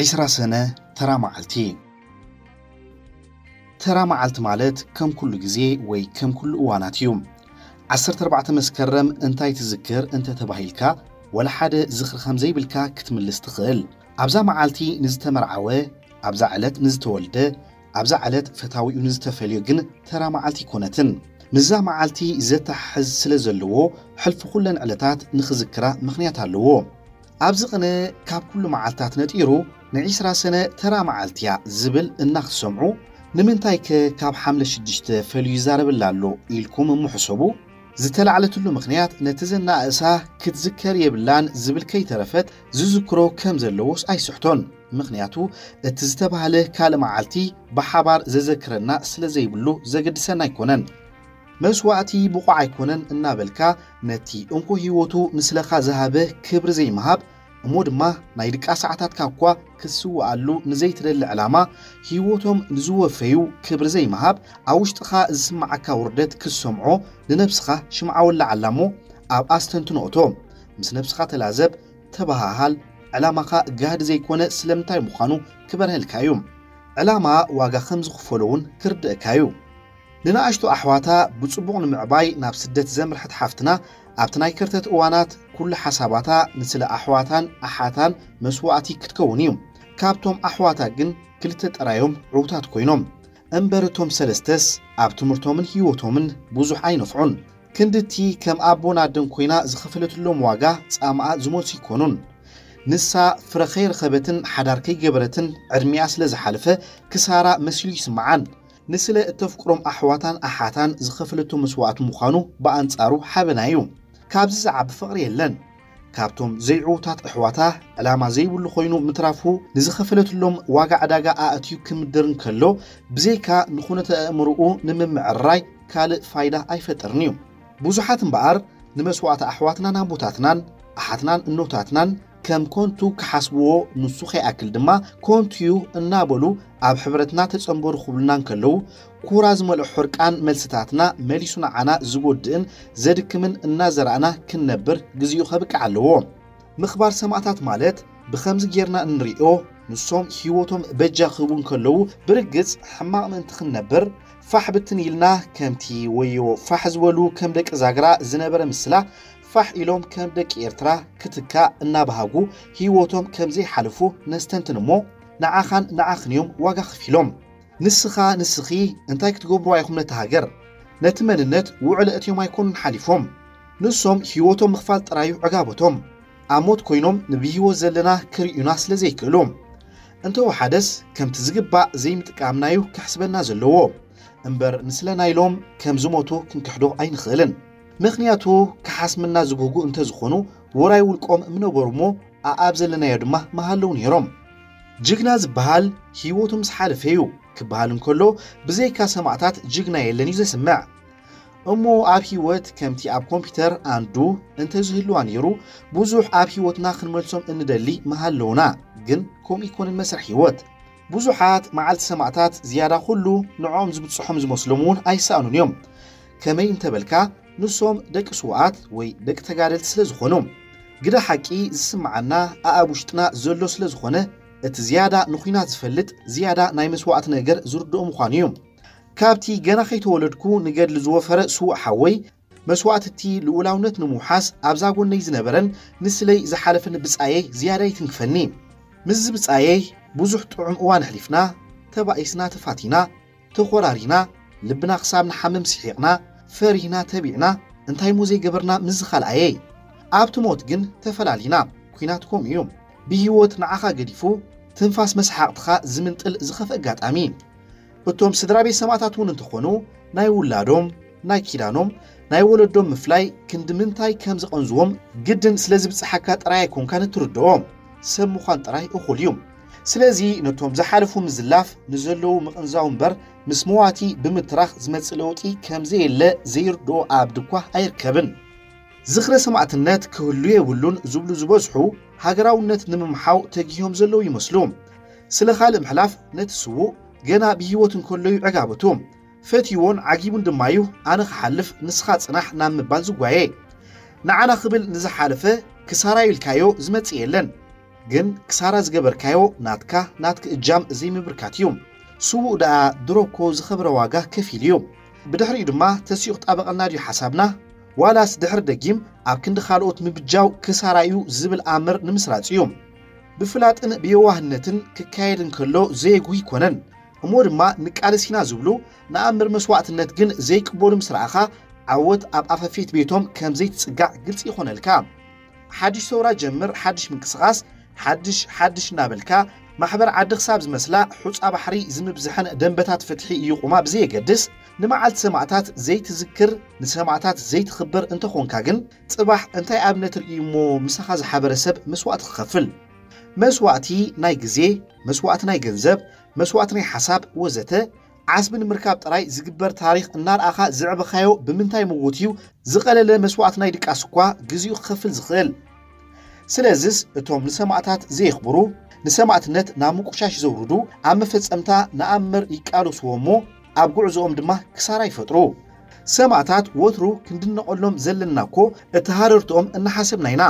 ዒስራ ሰነ፣ ተራ መዓልቲ። ተራ መዓልቲ ማለት ከም ኩሉ ግዜ ወይ ከም ኩሉ እዋናት እዩ። ዓሰርተ ኣርባዕተ መስከረም እንታይ ትዝክር እንተ ተባሂልካ፣ ወላ ሓደ ዝኽሪ ከም ዘይብልካ ክትምልስ ትኽእል። ኣብዛ መዓልቲ ንዝተመርዓወ፣ ኣብዛ ዕለት ንዝተወልደ፣ ኣብዛ ዕለት ፈታዊኡ ንዝተፈልዮ ግን ተራ መዓልቲ ኣይኮነትን። ምስዛ መዓልቲ ዘተሓሕዝ ስለ ዘለዎ፣ ሕልፊ ኩለን ዕለታት ንኽዝክራ ምኽንያት ኣለዎ። ኣብዚ ቅነ ካብ ኩሉ መዓልታት ነጢሩ ንዒስራ ሰነ ተራ መዓልቲ እያ ዝብል እናክትሰምዑ፣ ንምንታይከ ካብ ሓምለ ሽዱሽተ ፈልዩ ይዛረበላ ኣሎ ኢልኩም እሞ ሕሰቡ። ዝተላዕለትሉ ምኽንያት ነቲ ዘናእሳ ክትዝከር የብላን ዝብል ከይተረፈት ዝዝክሮ ከም ዘለዎስ ኣይስሕቶን። ምኽንያቱ እቲ ዝተባህለ ካልእ መዓልቲ ብሓባር ዘዘክረና ስለ ዘይብሉ ዘገድሰና ኣይኮነን። መስዋእቲ ብቑዕ ኣይኮነን እናበልካ ነቲ እንኮ ህይወቱ ንስለኻ ዝሃበ ክብሪ ዘይምሃብ፣ እሞ ድማ ናይ ድቃ ሰዓታትካ እኳ ክትስውኣሉ ንዘይትደሊ ዕላማ ህይወቶም ንዝወፈዩ ክብሪ ዘይምሃብ፣ ኣብ ውሽጥኻ ዝስምዓካ ውርደት ክትሰምዖ ንነብስኻ ሽምዓ ወላዓላ እሞ ኣብ ኣስተንትኖ እቶ። ምስ ነብስኻ ተላዘብ፣ ተበሃሃል፣ ዕላማኻ ጋህዲ ዘይኮነ ስለምንታይ ምዃኑ ክበርሀልካ እዩ። ዕላማ ዋጋ ከም ዝኽፈሎ እውን ክርድእካ እዩ። ንንኣሽቱ ኣሕዋታ ብጽቡቕ ንምዕባይ ናብ ስደት ዘምርሐት ሓፍትና፣ ኣብቲ ናይ ከርተት እዋናት ኩሉ ሓሳባታ ንስለ ኣሕዋታን ኣሓታን መስዋእቲ ክትከውን እዩ። ካብቶም ኣሕዋታ ግን ክልተ ጥራዮም ዕውታት ኮይኖም። እምበር እቶም ሰለስተስ ኣብ ትምህርቶምን ህይወቶምን ብዙሕ ኣይነፍዑን። ክንድቲ ከም ኣቦን ኣደን ኮይና ዝኸፈለትሎም ዋጋ ጻማኣ ዝመልሱ ኣይኮኑን። ንሳ ፍረ ከይረኸበትን ሓዳር ከይገበረትን ዕድሚኣ ስለ ዝሓለፈ ክሳራ መሲሉ ይስምዓን። ንስለ እተፍቅሮም ኣሕዋታን ኣሓታን ዝኸፈለቶ መስዋእቲ ምዃኑ ብኣንጻሩ ሓበና እዩ። ካብዚ ዝዓቢ ፍቕሪ የለን። ካብቶም ዘይዕዉታት ኣሕዋታ ዕላማ ዘይብሉ ኮይኑ ምትራፉ ንዝኸፈለትሎም ዋጋ ዕዳጋ ኣእትዩ ክምድር እንከሎ፣ ብዘይካ ንኹነተ ኣእምሮኡ ንምምዕርራይ ካልእ ፋይዳ ኣይፈጥርን እዩ። ብዙሓት እምበኣር ንመስዋእቲ ኣሕዋትናን ኣቦታትናን ኣሓትናን እኖታትናን ከም ኮንቱ ክሓስብዎ፣ ንሱ ከይኣክል ድማ ኮንቱ እዩ እናበሉ ኣብ ሕብረትና ተጸንበሩ ክብሉና እንከለዉ፣ ኩራ ዝመልኦ ሕርቃን መልስታትና መሊሱ ንዓና ዝጎድእን ዘድክምን እናዘራእና ክንነብር ግዜኡ ከብቅዕ ኣለዎ። ምኽባር ሰማእታት ማለት ብኸምዚ ጌርና እንሪኦ፣ ንሶም ህይወቶም በጃ ክህቡ እንከለዉ ብርግጽ ሕማቕ ምእንቲ ክንነብር ፋሕ ብትን ኢልና፣ ከምቲ ወዮ ፋሕ ዝበሉ ከም ደቂ ዛግራ ዝነበረ ምስላ ፋሕ ኢሎም ከም ደቂ ኤርትራ ክትካእ እናበሃጉ ህይወቶም ከም ዘይሓልፉ ነስተንትን እሞ፣ ንዓኻን ንዓኽን እዮም ዋጋ ከፊሎም። ንስኻ ንስኺ እንታይ ክትገብርዋ ኢኹም ነቲ ሃገር? ነቲ መንነት ውዕል ኣእትዮም ኣይኮኑን ሓሊፎም። ንሶም ህይወቶም ምኽፋል ጥራዩ ዕጋበቶም። ኣብ ሞት ኮይኖም ንብህይወት ዘለና ክርእዩና ስለ ዘይክእሉ። እንተወሓደስ ከምቲ ዝግባእ ዘይምጥቃምናዩ ክሕስበና ዘለዎ። እምበር ንስለና ኢሎም ከም ዝሞቱ ክንክሕዶ ኣይንኽእልን። ምኽንያቱ ክሓስምና ዝጉህጉ እንተዝኾኑ ውራይ ውልቆም ምነበሩ እሞ ኣኣብ ዘለናዮ ድማ ምሃለዉ ነይሮም። ጅግና ዝበሃል ህይወቱ ምስ ሓለፈ እዩ ክበሃል እንከሎ፣ ብዘይካ ሰማእታት ጅግና የለን እዩ ዘስምዕ። እሞ ኣብ ህይወት ከምቲ ኣብ ኮምፒውተር ኣንዱ እንተዝህልዋ ነይሩ፣ ብዙሕ ኣብ ህይወትና ክንመልሶም እንደሊ ምሃለውና። ግን ከምኡ ይኮንን መስርሕ ህይወት። ብዙሓት መዓልቲ ሰማእታት ዝያዳ ኩሉ ንዕኦም ዝብጽሖም ዝመስሎም እውን ኣይሰኣኑን እዮም። ከመይ እንተበልካ፣ ንሶም ደቂ ስውኣት ወይ ደቂ ተጋደልቲ ስለ ዝኾኑ፣ ግደ ሓቂ ዝስምዓና ኣኣብ ውሽጥና ዘሎ ስለ ዝኾነ፣ እቲ ዝያዳ ንኹናት ዝፈልጥ ዝያዳ ናይ መስዋእቲ ነገር ዝርድኦ ምዃኑ እዩ። ካብቲ ገና ከይተወለድኩ ንገድሊ ዝወፈረ ስዉእ ሓወይ፣ መስዋእቲ እቲ ልኡላውነት ንምውሓስ ኣብዛ ጎነይ ዝነበረን ንስለይ ዝሓለፈኒ ብጻየይ ዝያዳ ይትንክፈኒ። ምስዚ ብጻየይ ብዙሕ ጥዑም እዋን ኣሕሊፍና፣ ተባኢስና ተፋቲና፣ ተኾራሪና፣ ልብና ክሳብ ንሓምም ስሒቕና፣ ፈሪህና ተቢዕና፣ እንታይ እሞ ዘይገበርና ምስዚ ካልኣየይ። ኣብቲ ሞት ግን ተፈላሊና። ኲናት ከምኡ እዩ። ብህይወት ንዓኻ ገዲፉ፣ ትንፋስ መስሓቕትኻ ዝምንጥል ዝኸፍአ ኣጋጣሚ። እቶም ስድራ ቤት ሰማእታት እውን እንተኾኑ፣ ናይ ውላዶም፣ ናይ ኪዳኖም፣ ናይ ወለዶም ምፍላይ ክንዲ ምንታይ ከም ዘቐንዝዎም ግድን ስለ ዝብጽሓካ ጥራይ ኣይኮንካን እትርድኦ። ሰብ ምዃን ጥራይ እኹል እዩ። ስለዚ ነቶም ዝሓለፉ ምዝላፍ ንዘለዉ ምቕንዛው እምበር ምስ መዋቲ ብምትራኽ ዝመጽእ ለውጢ ከም ዘየለ ዘይርድኦ ኣኣብ ድኳ ኣይርከብን። ዝኽረ ሰማእትነት ክህሉ የብሉን ዝብሉ ዝበዝሑ ሃገራውነት ንምምሓው ተጊሆም ዘለዉ ይመስሉ። ስለ ካልእ ምሕላፍ ነቲ ስዉእ ገና ብህይወት እንከሎ እዩ ዕጋበቱ። ፈትይዎን ዓጊቡን ድማ እዩ ኣነ ክሓልፍ ንስኻ ጽናሕ ናብ ምባል ዝጓየ። ንዓና ክብል ንዝሓለፈ ክሳራ ኢልካዮ ዝመጽእ የለን። ግን ክሳራ ዝገበርካዮ ናትካ ናትክ እጃም ዘይምብርካት እዩ። ስዉእ ደኣ ድሮ እኮ ዝኸበረ ዋጋ ከፊሉ እዩ። ብድሕሪኡ ድማ ተሲኡ ክጣበቐልና ድዩ ሓሳብና? ዋላስ ድሕሪ ደጊም ኣብ ክንዲ ካልኦት ምብጃው ክሳራ እዩ ዝብል ኣምር ንምስራጽ እዩ። ብፍላጥን ብየዋህነትን ክካየድ እንከሎ ዘየጉህ ኣይኮነን። እሞ ድማ ንቃለስ ኢና ዝብሉ ንኣምር መስዋዕትነት ግን ዘይቅበሉ ምስ ረኣኻ ዓወት ኣብ ኣፈፌት ቤቶም ከም ዘይትጽጋዕ ግልጺ ይኾነልካ። ሓድሽ ሰውራ ጀምር፣ ሓድሽ ምንቅስቓስ፣ ሓድሽ ሓድሽ እናበልካ ማሕበር ዓዲ ክሳብ ዝመስላ ሑጻ ባሕሪ ዝምብዝሐን ደንበታት ፍትሒ ይቑማ ብዘየገድስ ንመዓልቲ ሰማእታት ዘይትዝክር ንሰማእታት ዘይትኽብር እንተኾንካ ግን ጽባሕ እንታይ ኣብነት ርእዩ እሞ ምሳኻ ዝሓበረ ሰብ መስዋእቲ ክኸፍል? መስዋእቲ ናይ ግዜ፣ መስዋእቲ ናይ ገንዘብ፣ መስዋእቲ ናይ ሓሳብ ወዘተ ዓስቢ ንምርካብ ጥራይ ዝግበር ታሪኽ እናረኣኻ ዘዕበኻዮ ብምንታይ መጎት እዩ ዝቐለለ መስዋእቲ ናይ ድቃስ እኳ ግዜኡ ክኸፍል ዝኽእል? ስለዝስ እቶም ንሰማእታት ዘየኽብሩ፣ ንሰማእትነት ናብ ምቁሻሽ ዘውርዱ ኣብ መፈጸምታ ንኣምር ይቃለስዎ እሞ ኣብ ጉዕዞኦም ድማ ክሳራ ይፈጥሩ። ሰማእታት ወትሩ ክንድነቐሎም ዘለና እኮ እቲ ሃረርትኦም እናሓሰብና ኢና።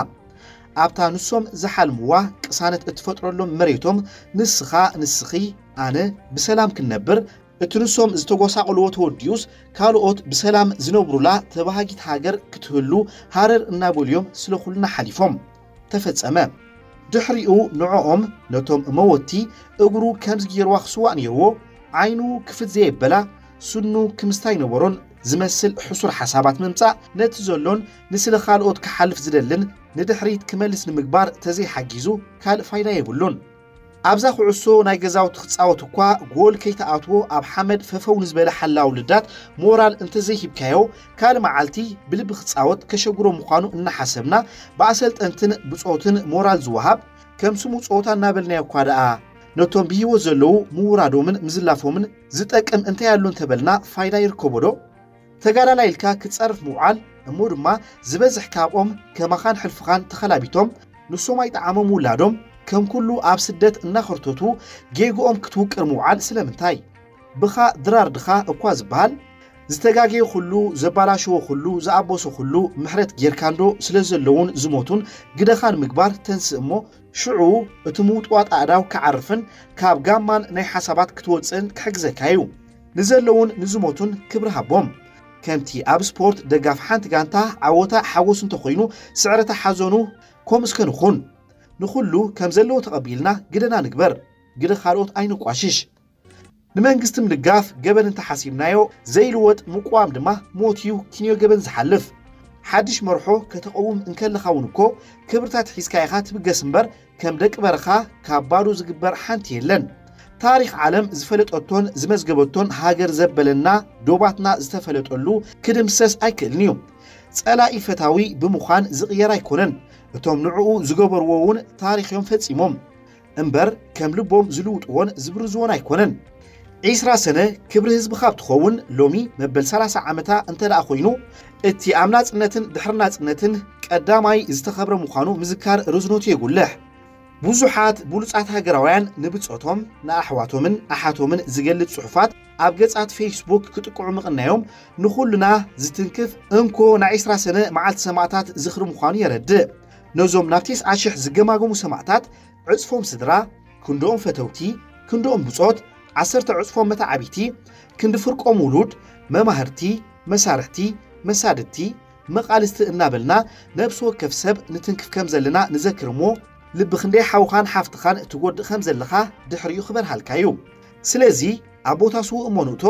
ኣብታ ንሶም ዝሓልምዋ ቅሳነት እትፈጥረሎም መሬቶም ንስኻ ንስኺ ኣነ ብሰላም ክንነብር እቲ ንሶም ዝተጎሳቐልዎ ተወዲኡስ ካልኦት ብሰላም ዝነብሩላ ተባሃጊት ሃገር ክትህሉ ሃረር እናበሉ እዮም ስለ ኩልና ሓሊፎም። ተፈጸመ። ድሕሪኡ ንዕኦም ነቶም መወቲ እግሩ ከምዚ ገይርዋ ክስዋእ ነይርዎ ዓይኑ ክፍት ዘየበላ ስኑ ክምስታይ ነበሮን ዝመስል ሕሱር ሓሳባት ምምጻእ ነቲ ዘሎን ንስለ ካልኦት ክሓልፍ ዝደልን ንድሕሪት ክመልስ ንምግባር ተዘይሓጊዙ ካልእ ፋይዳ የብሉን። ኣብዛ ኩዕሶ ናይ ገዛውቲ ክጻወት እኳ ጎል ከይተኣትዎ ኣብ ሓመድ ፈፈው ንዝበለ ሓላው ልዳት ሞራል እንተዘይሂብካዮ ካልእ መዓልቲ ብልቢ ክጻወት ከሸግሮ ምዃኑ እናሓሰብና ብኣሰልጠንትን ብጾትን ሞራል ዝወሃብ ከም ስሙ ጸወታ እናበልናዮ እኳ ደኣ ነቶም ብህይወት ዘለዉ ምውራዶምን ምዝላፎምን ዝጠቅም እንታይ ኣሎ እንተበልና ፋይዳ ይርከቦ ዶ? ተጋዳላይ ኢልካ ክትጸርፍ ምውዓል እሞ ድማ ዝበዝሕ ካብኦም ከማኻን ሕልፍኻን ተኸላቢቶም ንሶም ኣይጠዓሞም ውላዶም ከም ኩሉ ኣብ ስደት እናኸርተቱ ጌግኦም ክትውቅር ምውዓል ስለምንታይ? ብኻ ድራር ድኻ እኳ ዝበሃል ዝተጋገየ ኩሉ ዘባላሸዎ ኩሉ ዝኣበሶ ኩሉ ምሕረት ጌርካንዶ ስለ ዘለውን ዝሞቱን ግደኻን ምግባር ተንስእ እሞ ሽዑ እቲ ምውጥዋጥ ኣእዳው ክዓርፍን ካብ ጋማን ናይ ሓሳባት ክትወጽእን ክሕግዘካ እዩ። ንዘለውን ንዝሞቱን ክብሪ ሃቦም። ከምቲ ኣብ ስፖርት ደጋፍ ሓንቲ ጋንታ ዓወታ ሓጎስ እንተኾይኑ ስዕረታ ሓዘኑ ከምኡ እስከ ንኹን። ንኹሉ ከም ዘለዎ ተቐቢልና ግደና ንግበር፣ ግደ ካልኦት ኣይነቋሽሽ። ንመንግስቲ ምድጋፍ ገበን እንተሓሲብናዮ ዘይልወጥ ምቁዋም ድማ ሞት እዩ ኪንዮ ገበን ዝሓልፍ። ሓድሽ መርሖ ከተቐውም እንከለኻ እውን እኮ ክብርታት ሒዝካ ኢኻ ትብገስ እምበር ከም ደቂ በረኻ ካብ ባዶ ዝግበር ሓንቲ የለን። ታሪኽ ዓለም ዝፈለጠቶን ዝመዝገበቶን ሃገር ዘበለና ዶባትና ዝተፈለጠሉ ክድምሰስ ኣይክእልን እዩ። ጸላኢ ፈታዊ ብምዃን ዝቕየር ኣይኮነን። እቶም ንዕኡ ዝገበርዎ እውን ታሪኽ እዮም ፈጺሞም እምበር ከም ልቦም ዝልውጥዎን ዝብርዝዎን ኣይኮነን። ዒስራ ሰነ ክብሪ ህዝቢ ካብ ትኸውን ሎሚ መበል ሰላሳ ዓመታ እንተ ደኣ ኮይኑ እቲ ኣብ ናጽነትን ድሕሪ ናጽነትን ቀዳማይ ዝተኸብረ ምዃኑ ምዝካር ርዝነቱ የጉልሕ። ብዙሓት ብሉጻት ሃገራውያን ንብጾቶም ንኣሕዋቶምን ኣሓቶምን ዝገልጽ ጽሑፋት ኣብ ገጻት ፌስቡክ ክጥቅዑ ምቕናዮም ንኹልና ዝትንክፍ እንኮ ናይ ዒስራ ሰነ መዓልቲ ሰማእታት ዝኽሪ ምዃኑ የረድእ። ነዞም ናብ ተስዓ ሽሕ ዝገማገሙ ሰማእታት ዕጽፎም ስድራ፣ ክንድኦም ፈተውቲ፣ ክንድኦም ብጾት፣ ዓሰርተ ዕጽፎም መተዓቢቲ፣ ክንዲ ፍርቆም ውሉድ፣ መማህርቲ፣ መሳርሕቲ፣ መሳድድቲ፣ መቓልስቲ እናበልና ነብሲ ወከፍ ሰብ ንትንክፍ ከም ዘለና ንዘክር እሞ ልቢ ክንደይ ሓውኻን ሓፍትኻን ትጎድእ ከም ዘለኻ ድሕሪኡ ክበርሃልካ እዩ። ስለዚ ኣብ ቦታ ስዉእ እሞ ንእቶ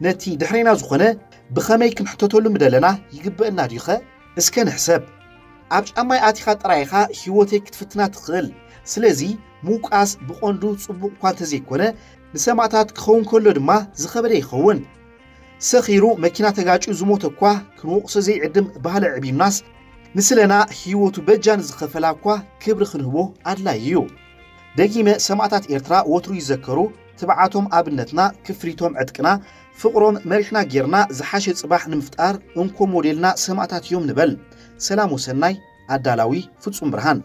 ነቲ ድሕሬና ዝኾነ ብኸመይ ክንሕተተሉ ምደለና ይግበእና ድዩኸ? እስከ ንሕሰብ። ኣብ ጫማይ ኣቲኻ ጥራይ ኢኻ ህይወተይ ክትፍትና ትኽእል። ስለዚ ምውቃስ ብቐንዱ ጽቡቕ እኳ እንተዘይኮነ ንሰማእታት ክኸውን ከሎ ድማ ዝኸበደ ይኸውን። ሰኺሩ መኪና ተጋጭዩ ዝሞተ እኳ ክንወቕሶ ዘይዕድም ባህሊ ኣዕቢምናስ ንስለና ህይወቱ በጃ ንዝኸፈላ እኳ ክብሪ ክንህቦ ኣድላዪ እዩ። ደጊመ ሰማእታት ኤርትራ ወትሩ ይዘከሩ። ትብዓቶም ኣብነትና፣ ክፍሊቶም ዕጥቅና፣ ፍቕሮም መሪሕና ጌርና ዝሓሸ ጽባሕ ንምፍጣር እንኮ ሞዴልና ሰማእታት እዮም ንበል። ሰላም ወሰናይ። ኣዳላዊ ፍጹም ብርሃን።